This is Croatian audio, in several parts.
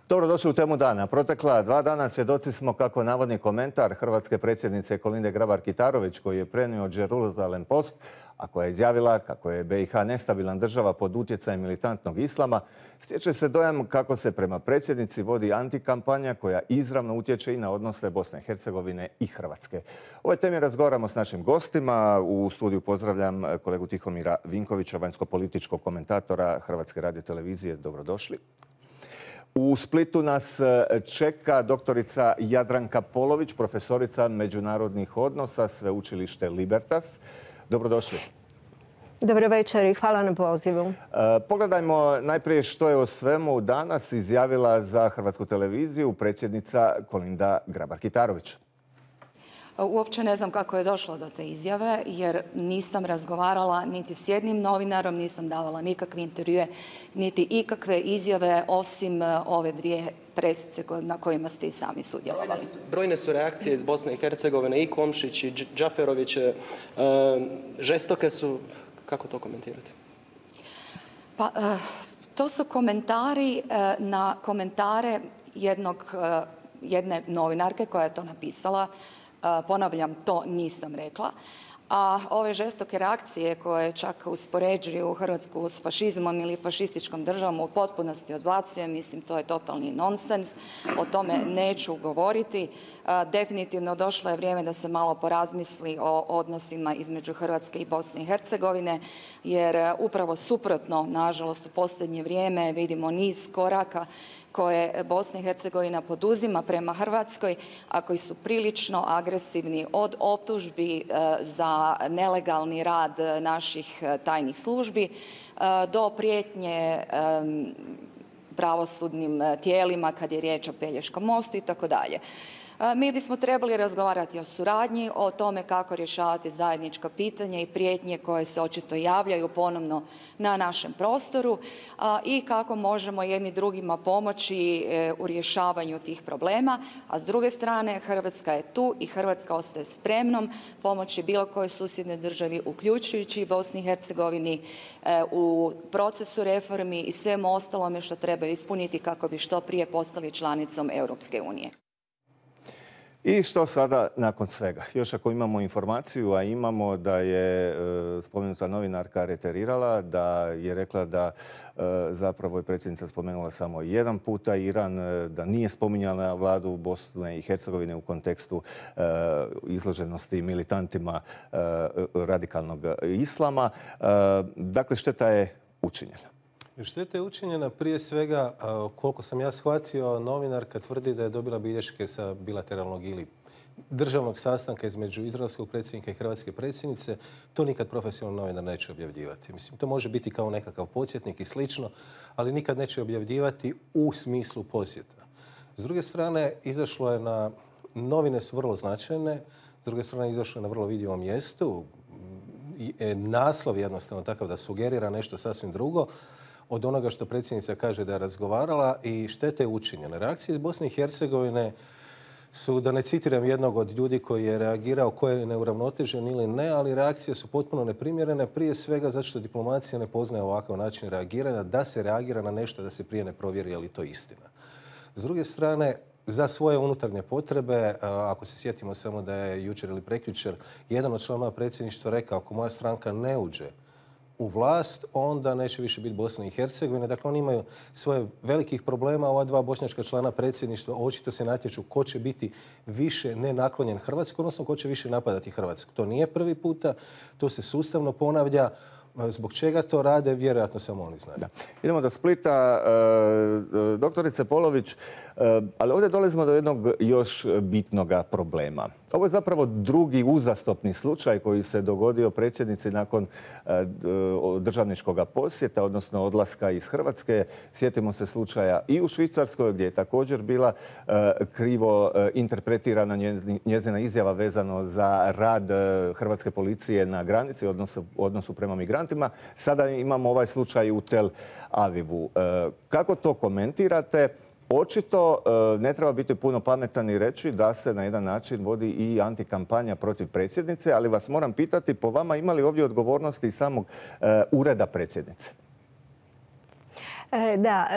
Dobrodošli u Temu dana. Protekla 2 dana svjedoci smo kako navodni komentar hrvatske predsjednice Kolinde Grabar-Kitarović, koji je prenio Jerusalem Post, a koja je izjavila kako je BiH nestabilan država pod utjecajem militantnog islama, stječe se dojam kako se prema predsjednici vodi antikampanja koja izravno utječe i na odnose Bosne i Hercegovine i Hrvatske. O ovoj temi razgovaramo s našim gostima. U studiju pozdravljam kolegu Tihomira Vinkovića, vanjsko-političkog komentatora Hrvatske radiotelevizije. Dobrodošli. U Splitu nas čeka doktorica Jadranka Polović, profesorica međunarodnih odnosa, sveučilište Libertas. Dobrodošli. Dobro večer i hvala na pozivu. Pogledajmo najprije što je o svemu danas izjavila za Hrvatsku televiziju predsjednica Kolinda Grabar-Kitarović. Uopće ne znam kako je došlo do te izjave, jer nisam razgovarala niti s jednim novinarom, nisam davala nikakve intervjue, niti ikakve izjave, osim ove 2 presice na kojima ste i sami sudjelovali. Brojne su reakcije iz Bosne i Hercegovine, i Komšić i Džaferović, žestoke su. Kako to komentirate? Pa, to su komentari na komentare jedne novinarke koja je to napisala. Ponavljam, to nisam rekla. A ove žestoke reakcije koje čak uspoređuju Hrvatsku s fašizmom ili fašističkom državom u potpunosti odbacujem. Mislim, to je totalni nonsens. O tome neću govoriti. Definitivno došlo je vrijeme da se malo porazmisli o odnosima između Hrvatske i Bosne i Hercegovine, jer upravo suprotno, nažalost, u posljednje vrijeme vidimo niz koraka koje Bosna i Hercegovina poduzima prema Hrvatskoj, a koji su prilično agresivni, od optužbi za nelegalni rad naših tajnih službi do prijetnje pravosudnim tijelima kad je riječ o Pelješkom mostu i tako dalje. Mi bismo trebali razgovarati o suradnji, o tome kako rješavati zajednička pitanja i prijetnje koje se očito javljaju ponovno na našem prostoru i kako možemo jedni drugima pomoći u rješavanju tih problema. A s druge strane, Hrvatska je tu i Hrvatska ostaje spremnom pomoći bilo kojoj susjednoj državi, uključujući Bosni i Hercegovini, u procesu reformi i svemu ostalome što trebaju ispuniti kako bi što prije postali članicom Europske unije. I što sada nakon svega? Još ako imamo informaciju, a imamo, da je spomenuta novinarka reterirala, da je rekla da zapravo je predsjednica spomenula samo jedan puta Iran, da nije spominjala vladu Bosne i Hercegovine u kontekstu izloženosti militantima radikalnog islama. Dakle, šteta je učinjena. Šteta je učinjena prije svega, koliko sam ja shvatio, novinarka tvrdi da je dobila bilješke sa bilateralnog ili državnog sastanka između izraelskog predsjednika i hrvatske predsjednice. To nikad profesionalni novinar neće objavljivati. Mislim, to može biti kao nekakav podsjetnik i slično, ali nikad neće objavljivati u smislu posjeta. S druge strane, izašlo je na... Novine su vrlo značajne, s druge strane izašlo je na vrlo vidljivom mjestu. Naslov jednostavno takav da sugerira nešto sasvim drugo od onoga što predsjednica kaže da je razgovarala, i štete je učinjena. Reakcije iz Bosne i Hercegovine su, da ne citiram jednog od ljudi koji je reagirao, ko je neuravnotežen ili ne, ali reakcije su potpuno neprimjerene, prije svega zato što diplomacija ne poznaje ovakav način reagiranja, da se reagira na nešto, da se prije ne provjeri je li to istina. S druge strane, za svoje unutarnje potrebe, ako se sjetimo samo da je jučer ili prekjučer jedan od članova predsjedništva rekao, ako moja stranka ne uđe u vlast, onda neće više biti Bosne i Hercegovine. Dakle, oni imaju svoje velikih problema. Ova 2 bošnjačka člana predsjedništva očito se natječu ko će biti više nenaklonjen Hrvatskoj, odnosno ko će više napadati Hrvatsku. To nije prvi puta, to se sustavno ponavlja. Zbog čega to rade, vjerojatno samo oni znaju. Idemo do Splita. Doktorice Polović, ali ovdje dolazimo do jednog još bitnog problema. Ovo je zapravo drugi uzastopni slučaj koji se dogodio predsjednici nakon državničkog posjeta, odnosno odlaska iz Hrvatske. Sjetimo se slučaja i u Švicarskoj, gdje je također bila krivo interpretirana njezina izjava vezano za rad hrvatske policije na granici, odnosu prema migrantima. Sada imamo ovaj slučaj u Tel Avivu. Kako to komentirate? Očito ne treba biti puno pametan i reći da se na jedan način vodi i antikampanja protiv predsjednice, ali vas moram pitati, po vama ima li ovdje odgovornosti samog ureda predsjednice? Da,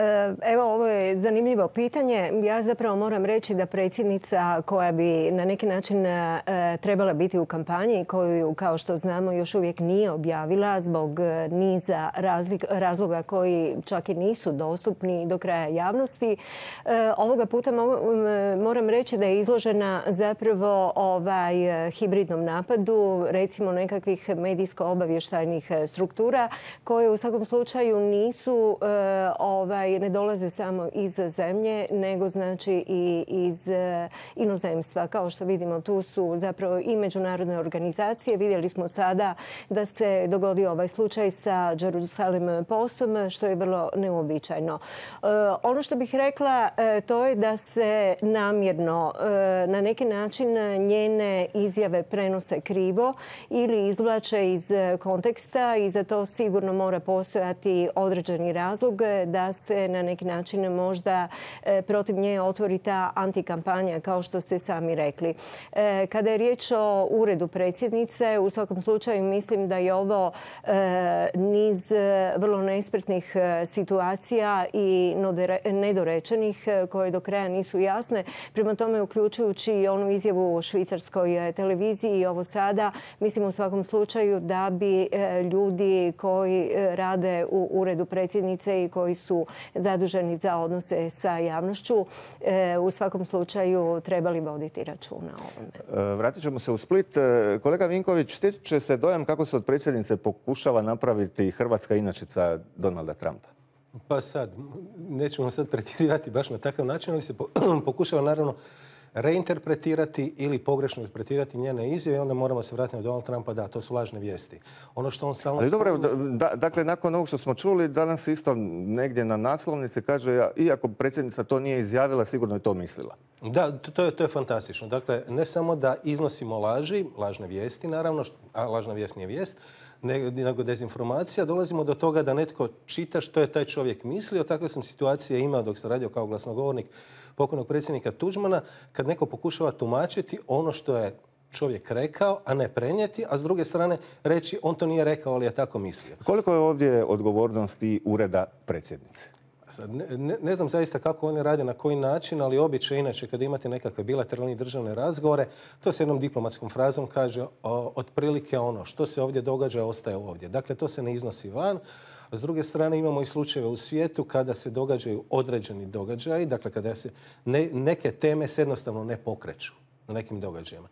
evo ovo je zanimljivo pitanje. Ja zapravo moram reći da predsjednica koja bi na neki način trebala biti u kampanji, koju kao što znamo još uvijek nije objavila zbog niza razloga koji čak i nisu dostupni do kraja javnosti, ovoga puta moram reći da je izložena zapravo hibridnom napadu, recimo nekakvih medijsko-obavještajnih struktura koje u svakom slučaju nisu ne dolaze samo iz zemlje, nego znači i iz inozemstva. Kao što vidimo, tu su zapravo i međunarodne organizacije. Vidjeli smo sada da se dogodio ovaj slučaj sa Jerusalem Postom, što je vrlo neuobičajeno. Ono što bih rekla, to je da se namjerno na neki način njene izjave prenose krivo ili izvlače iz konteksta i za to sigurno mora postojati određeni razlog da se na neki način možda protiv nje otvori ta antikampanja, kao što ste sami rekli. Kada je riječ o uredu predsjednice, u svakom slučaju mislim da je ovo niz vrlo nespretnih situacija i nedorečenih koje do kraja nisu jasne. Prema tome, uključujući i onu izjavu u švicarskoj televiziji i ovo sada, mislim u svakom slučaju da bi ljudi koji rade u uredu predsjednice i koji su zaduženi za odnose sa javnošću u svakom slučaju trebali voditi računa o ovome. Vratit ćemo se u Split. Kolega Vinković, stječe se dojam kako se od predsjednice pokušava napraviti hrvatska inačica Donalda Trumpa. Pa sad, nećemo sad pretjerivati baš na takav način, ali se pokušava naravno reinterpretirati ili pogrešno interpretirati njene izjave i onda moramo se vratiti na Donald Trumpa. Da, to su lažne vijesti. Ono što on stalno... Ali dobro, dakle, nakon ovog što smo čuli, danas isto negdje na naslovnici kaže, iako predsjednica to nije izjavila, sigurno je to mislila. Da, to je fantastično. Dakle, ne samo da iznosimo lažne vijesti, naravno, a lažna vijest nije vijest, nego dezinformacija, dolazimo do toga da netko čita što je taj čovjek mislio. Takve sam situacije imao dok sam radio kao glasnogovornik pokojnog predsjednika Tuđmana, kad neko pokušava tumačiti ono što je čovjek rekao, a ne prenijeti, a s druge strane reći on to nije rekao, ali je tako mislio. Koliko je ovdje odgovornosti ureda predsjednice? Sad, ne znam zaista kako oni rade, na koji način, ali običaj inače kada imate nekakve bilateralne državne razgovore, to se jednom diplomatskom frazom kaže otprilike ono što se ovdje događa ostaje ovdje. Dakle, to se ne iznosi van. A s druge strane imamo i slučajeve u svijetu kada se događaju određeni događaji, dakle kada se neke teme se jednostavno ne pokreću na nekim događajima.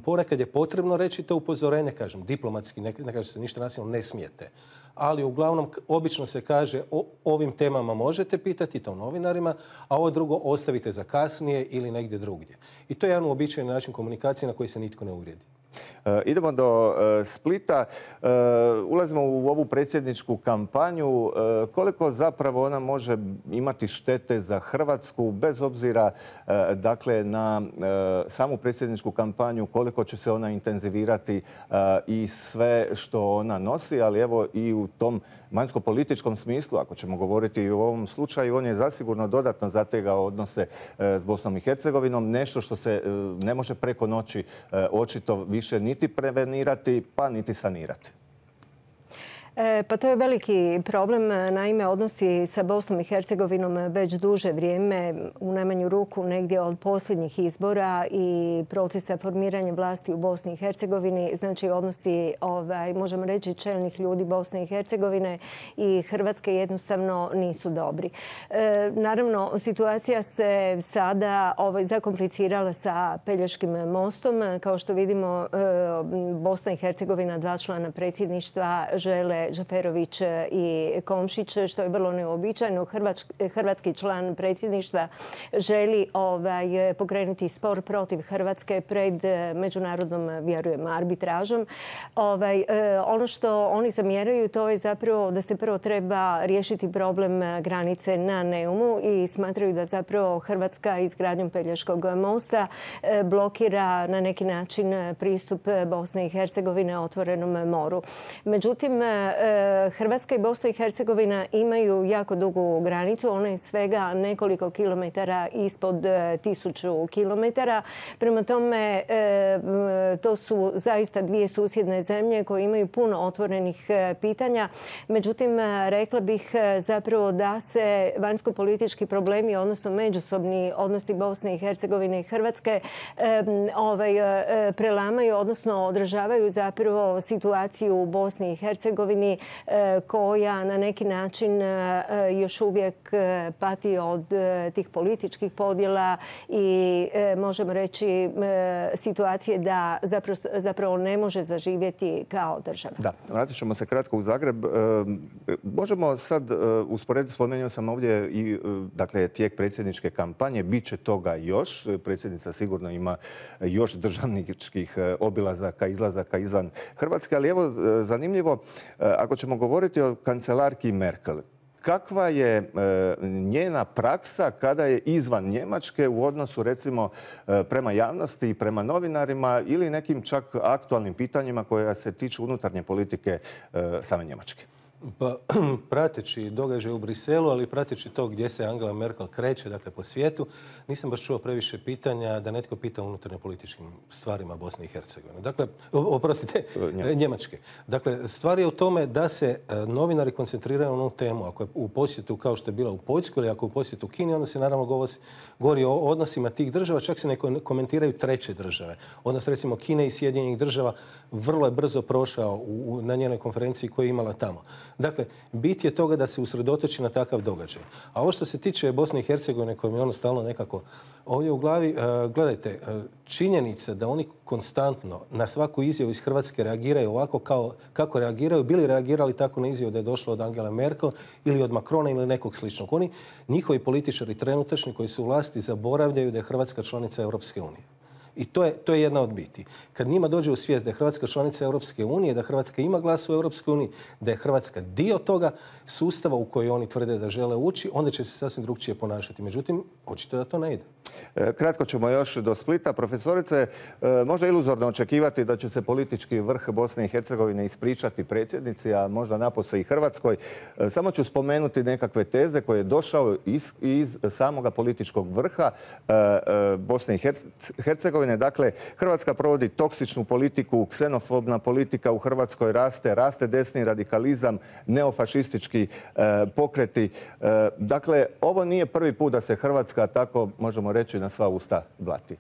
Ponekad je potrebno reći to upozorenje, kažem, diplomatski, ne kaže se ništa nasilno, ne smijete. Ali uglavnom obično se kaže o ovim temama možete pitati, to novinarima, a ovo drugo ostavite za kasnije ili negdje drugdje. I to je jedan uobičajeni način komunikacije na koji se nitko ne uvrijedi. Idemo do Splita. Ulazimo u ovu predsjedničku kampanju. Koliko zapravo ona može imati štete za Hrvatsku, bez obzira dakle, na samu predsjedničku kampanju, koliko će se ona intenzivirati i sve što ona nosi, ali evo i u tom vanjsko-političkom smislu, ako ćemo govoriti i u ovom slučaju, on je zasigurno dodatno zategao odnose s Bosnom i Hercegovinom, nešto što se ne može preko noći očito više niti prevenirati, pa niti sanirati. Pa to je veliki problem. Naime, odnosi sa Bosnom i Hercegovinom već duže vrijeme, u najmanju ruku negdje od posljednjih izbora i procesa formiranja vlasti u Bosni i Hercegovini. Znači, odnosi, možemo reći, čelnih ljudi Bosne i Hercegovine i Hrvatske jednostavno nisu dobri. Naravno, situacija se sada zakomplicirala sa Pelješkim mostom. Kao što vidimo, Bosna i Hercegovina, dva člana predsjedništva, žele Džaferović i Komšić, što je vrlo neuobičajeno. Hrvatski član predsjedništva želi pokrenuti spor protiv Hrvatske pred međunarodnom, vjerujem, arbitražom. Ono što oni zamjeraju, to je zapravo da se prvo treba riješiti problem granice na Neumu i smatraju da zapravo Hrvatska izgradnjom Pelješkog mosta blokira na neki način pristup Bosne i Hercegovine otvorenom moru. Međutim, Hrvatska i Bosna i Hercegovina imaju jako dugu granicu. Ona je svega nekoliko kilometara ispod 1000 kilometara. Prema tome, to su zaista dvije susjedne zemlje koje imaju puno otvorenih pitanja. Međutim, rekla bih zapravo da se vanjsko-politički problemi, odnosno međusobni odnosi Bosne i Hercegovine i Hrvatske prelamaju, odnosno odražavaju zapravo situaciju u Bosni i Hercegovini koja na neki način još uvijek pati od tih političkih podjela i možemo reći situacije da zapravo ne može zaživjeti kao država. Da, vratit ćemo se kratko u Zagreb. Možemo sad usporediti, spomenuo sam ovdje i dakle, tijek predsjedničke kampanje. Biće toga još. Predsjednica sigurno ima još državničkih obilazaka, izlazaka izvan Hrvatske. Ali evo, zanimljivo, ako ćemo govoriti o kancelarki Merkel, kakva je njena praksa kada je izvan Njemačke u odnosu recimo prema javnosti i prema novinarima ili nekim čak aktualnim pitanjima koja se tiču unutarnje politike same Njemačke? Pa, prateći događaj u Briselu, ali prateći to gdje se Angela Merkel kreće, dakle po svijetu, nisam baš čuo previše pitanja da netko pita o unutarnje političkim stvarima Bosne i Hercegovine. Dakle, oprostite, Njemačke. Dakle, stvar je u tome da se novinari koncentriraju na onu temu. Ako je u posjetu kao što je bila u Poljskoj ili ako je u posjetu Kini, onda se naravno govori o odnosima tih država, čak se ne komentiraju treće države. Odnos recimo Kine i Sjedinjenih država vrlo je brzo prošao na njenoj konferenciji koju je imala tamo. Dakle, bit je toga da se usredotoči na takav događaj. A ovo što se tiče Bosne i Hercegovine, koje mi je ono stalno nekako ovdje u glavi, gledajte, činjenica da oni konstantno na svaku izjavu iz Hrvatske reagiraju ovako kako reagiraju, bili reagirali tako na izjavu da je došlo od Angela Merkel ili od Macrona ili nekog sličnog. Oni, njihovi političari trenutačni koji su u vlasti, zaboravljaju da je Hrvatska članica Europske unije. I to je jedna od biti. Kad njima dođe u svijest da je Hrvatska članica Europske unije, da Hrvatska ima glas u Europskoj uniji, da je Hrvatska dio toga sustava u koji oni tvrde da žele ući, onda će se sasvim drugčije ponašati. Međutim, očito da to ne ide. Kratko ćemo još do Splita. Profesorice, možda iluzorno očekivati da će se politički vrh Bosne i Hercegovine ispričati predsjednici, a možda napose i Hrvatskoj. Samo ću spomenuti nekakve teze koje je došao iz samoga političkog vrha Bosne i Hercegovine. Dakle, Hrvatska provodi toksičnu politiku, ksenofobna politika u Hrvatskoj raste desni radikalizam, neofašistički pokreti. Dakle, ovo nije prvi put da se Hrvatska tako, možemo reći, na sva usta blati.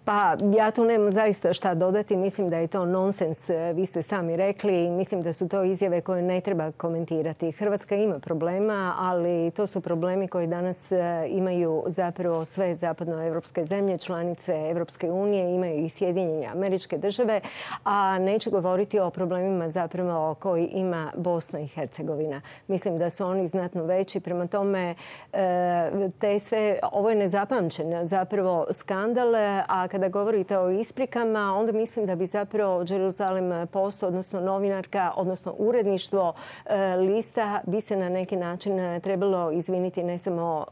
Pa ja tu nemam zaista šta dodati. Mislim da je to nonsens. Vi ste sami rekli. Mislim da su to izjave koje ne treba komentirati. Hrvatska ima problema, ali to su problemi koji danas imaju zapravo sve zapadnoevropske zemlje, članice Europske unije, imaju i Sjedinjene Američke Države, a neću govoriti o problemima zapravo koji ima Bosna i Hercegovina. Mislim da su oni znatno veći. Prema tome, ovo je nezapamćen zapravo skandal, a kada govorite o isprikama, onda mislim da bi zapravo Jerusalem Post, odnosno novinarka, odnosno uredništvo lista bi se na neki način trebalo izviniti ne samo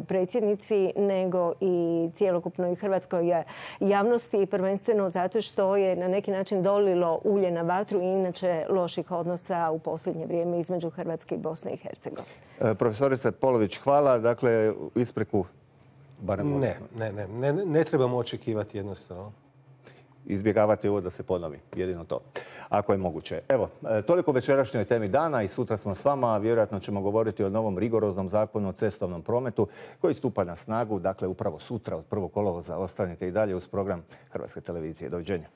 predsjednici, nego i cjelokupnoj hrvatskoj javnosti, prvenstveno zato što je na neki način dolilo ulje na vatru i inače loših odnosa u posljednje vrijeme između Hrvatske i Bosne i Hercegovine. Profesorice Polović, hvala. Dakle, ispriku Ne trebamo očekivati jednostavno. Izbjegavati ovo da se ponovi. Jedino to. Ako je moguće. Evo, toliko večerašnjoj temi dana i sutra smo s vama. Vjerojatno ćemo govoriti o novom rigoroznom zakonu o cestovnom prometu koji stupa na snagu. Dakle, upravo sutra od 1. kolovoza. Ostanite i dalje uz program Hrvatske televizije. Doviđenja.